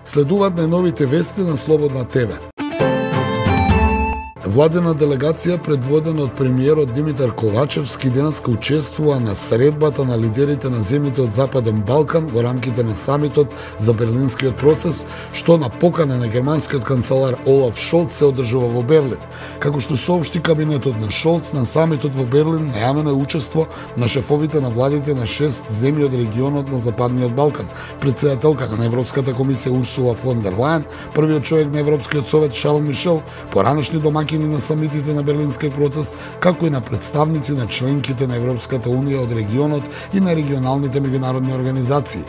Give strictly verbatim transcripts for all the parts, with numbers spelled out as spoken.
Следуваат најновите вести на Слободна ТВ. Владена делегација предводена од премиерот Димитар Ковачевски денеска учествува на средбата на лидерите на земјите од Западен Балкан во рамките на самитот за Берлинскиот процес, што на покана на германскиот канцелар Олаф Шолц се одржува во Берлин. Како што соопшти кабинетот на Шолц, на самитот во Берлин најавено е учество на шефовите на владите на шест земји од регионот на Западниот Балкан, претседателката на Европската комисија Урсула фон дер Лајен, првиот човек на Европскиот совет Шарл Мишел, поранешни домаќини на самитите на Берлинскиот процес, како и на представници на членките на Европската унија од регионот и на регионалните меѓународни организации.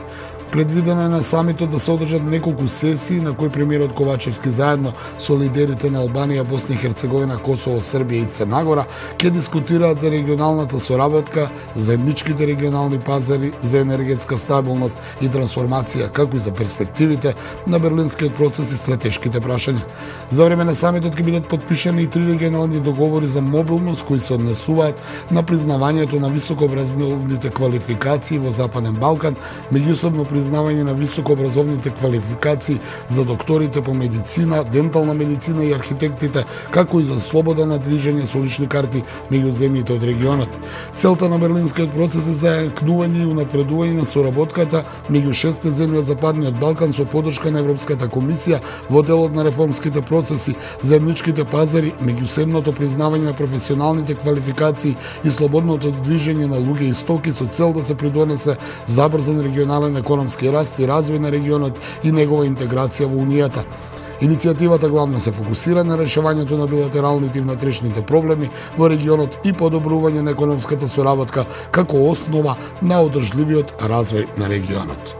Предвидено е на самитот да се одржат неколку сесии на кои премиерот Ковачевски заедно со лидерите на Албанија, Босна и Херцеговина, Косово, Србија и Црна Гора ќе дискутираат за регионалната соработка, заедничките регионални пазари, за енергетска стабилност и трансформација, како и за перспективите на Берлинскиот процес и стратешките прашања. За време на самитот ќе бидат подпишани и три регионални договори за мобилност кои се однесуваат на признавањето на високообразовните квалификации во Западен Балкан, меѓусобно признавање на високообразовните квалификации за докторите по медицина, дентална медицина и архитектите, како и за слобода на движење со лични карти меѓу земјите од регионот. Целта на Берлинскиот процес е зајакнување и унапредување на соработката меѓу шестте земји од Западниот Балкан со поддршка на Европската комисија во делот на реформските процеси, заедничките пазари, меѓусебното признавање на професионалните квалификации и слободното движење на луѓе и стоки со цел да се придонесе забрзан регионален економски раст и развој на регионот и негова интеграција во Унијата. Иницијативата главно се фокусира на решавањето на билатералните и внатрешните проблеми во регионот и подобрување на економската соработка како основа на одржливиот развој на регионот.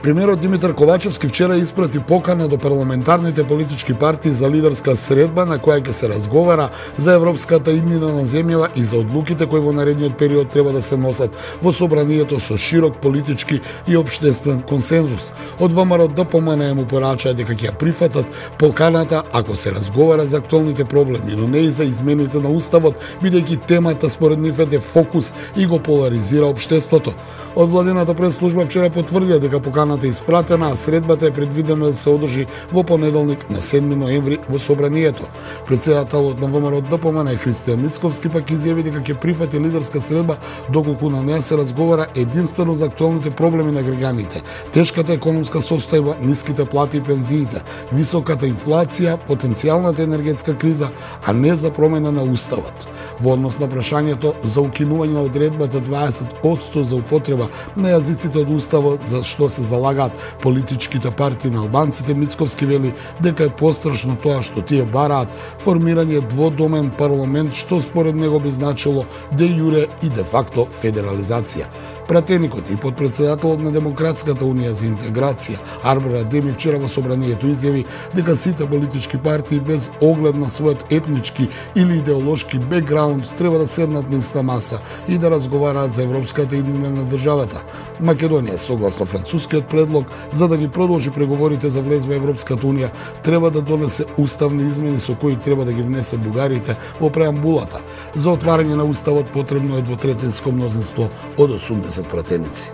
Премиерот Димитар Ковачевски вчера испрати покана до парламентарните политички партии за лидерска средба на која ќе се разговара за европската иднина на земјава и за одлуките кои во наредниот период треба да се носат во собранието со широк политички и општествен консензус. Од ВМРО Д П М Н му порачаа дека ќе ја прифатат поканата ако се разговара за актуалните проблеми, но не и за измените на уставот, бидејќи темата според нив е фокус и го поларизира општеството. Од владината прес-служба вчера потврдија дека поканата е испратена, а средбата е предвидена да се одржи во понеделник на седми ноември во собранието. Претседателот на ВМРО Д П М Н Христијан Мицковски пак изјави дека ќе прифати лидерска средба доколку на неа се разговара единствено за актуалните проблеми на граѓаните, тешката економска состојба, ниските плати и пензиите, високата инфлација, потенцијалната енергетска криза, а не за промена на уставот. Во однос на прашањето за укинување на одредбата дваесет одсто за употреба на јазиците од уставот за што се залагаат политичките партии на албанците, Мицковски вели дека е пострашно тоа што тие бараат формирање дводомен парламент, што според него би значило де јуре и де факто федерализација. Пратеникот и подпредседателот на Демократската унија за интеграција Арбер Адеми вчера во собранието изјави дека сите политички партии без оглед на својот етнички или идеолошки бекграунд треба да седнат на иста маса и да разговараат за европската иднина на државата. Македонија, согласно францускиот предлог, за да ги продолжи преговорите за влез во Европската унија, треба да донесе уставни измени со кои треба да ги внесе бугарите во преамбулата. За отварање на уставот потребно е двотретинско мнозинство од осумдесет пратеници.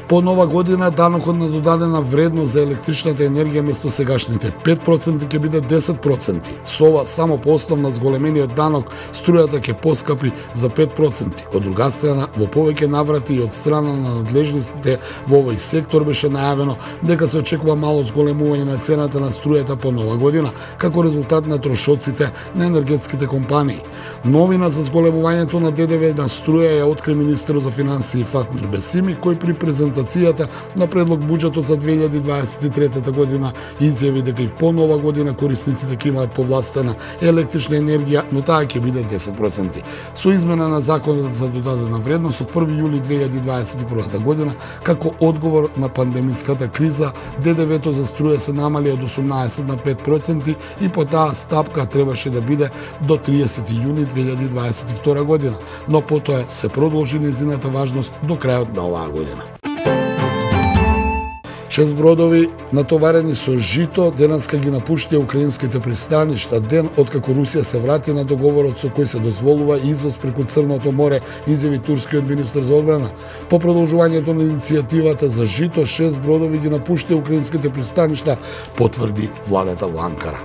По нова година данокот на додадена вредност за електричната енергија место сегашните пет проценти ќе биде десет проценти. Со ова само по основ на зголемениот данок струјата ќе поскапи за пет проценти. Од друга страна, во повеќе наврати и од страна на надлежниците во овој сектор беше најавено дека се очекува мало зголемување на цената на струјата по нова година, како резултат на трошоците на енергетските компании. Новина за зголемувањето на Д Д В на струја ја откри министерот за финансии Фатмир Бесими, кој при презентацијата на предлог буџетот за две илјади дваесет и трета година изјави дека и по нова година корисниците ќе имаат повластена електрична енергија, но таа ќе биде десет проценти. Со измена на законот за додадена вредност од први јули две илјади дваесет и прва година, како одговор на пандемиската криза, Д Д В-то за струја се намали од осумнаесет на пет проценти и по таа стапка требаше да биде до триесети јуни две илјади дваесет и втора година, но потоа се продолжи нејзината важност до крајот на оваа година. Шест бродови натоварени со жито денеска ги напуштија украинските пристаништа, ден откако Русија се врати на договорот со кој се дозволува извоз преку Црното море, изјави турскиот министер за одбрана. По продолжувањето на иницијативата за жито, шест бродови ги напуштија украинските пристаништа, потврди владата во Анкара.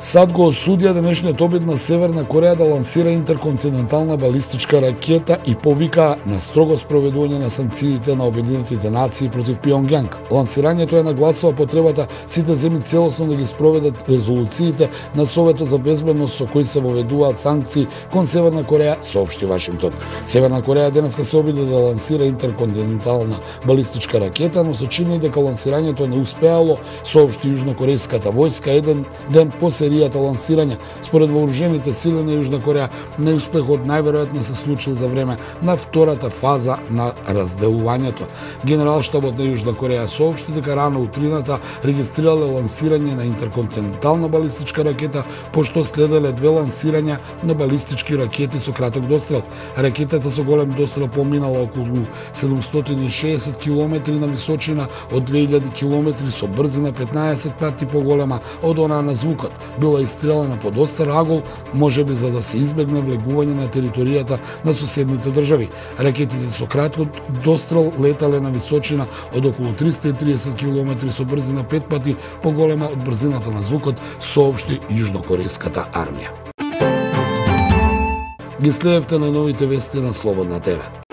САД го осудија денешниот обид на Северна Кореја да лансира интерконтинентална балистичка ракета и повика на строго спроведување на санкциите на Обединетите нации против Пјонгјанг. Лансирањето е нагласува потребата сите земји целосно да ги спроведат резолуциите на Советот за безбедност со кои се воведуваат санкции кон Северна Кореја, соопшти Вашингтон. Северна Кореја денеска се обиде да лансира интерконтинентална балистичка ракета, но се чини дека лансирањето не успеало, соопшти јужнокорејската војска еден ден по серијата лансирање. Според вооружените сили на Јужна Кореја, неуспехот најверојатно се случил за време на втората фаза на разделувањето. Генералштабот на Јужна Кореја соопшти дека рано утрината регистрирале лансирање на интерконтинентална балистичка ракета, пошто следеле две лансирања на балистички ракети со краток дострел. Ракетата со голем дострел поминала околу седумстотини и шеесет километри на височина од две илјади километри со брзина петнаесет пати поголема од онаа на звукот. Била истрелена под остар агол, можеби за да се избегне влегување на територијата на соседните држави. Ракетите со краток дострел летале на височина од околу триста и триесет километри со брзина пет пати поголема од брзината на звукот, соопшти јужнокорејската армија. Ги следевте на новите вести на Слободна ТВ.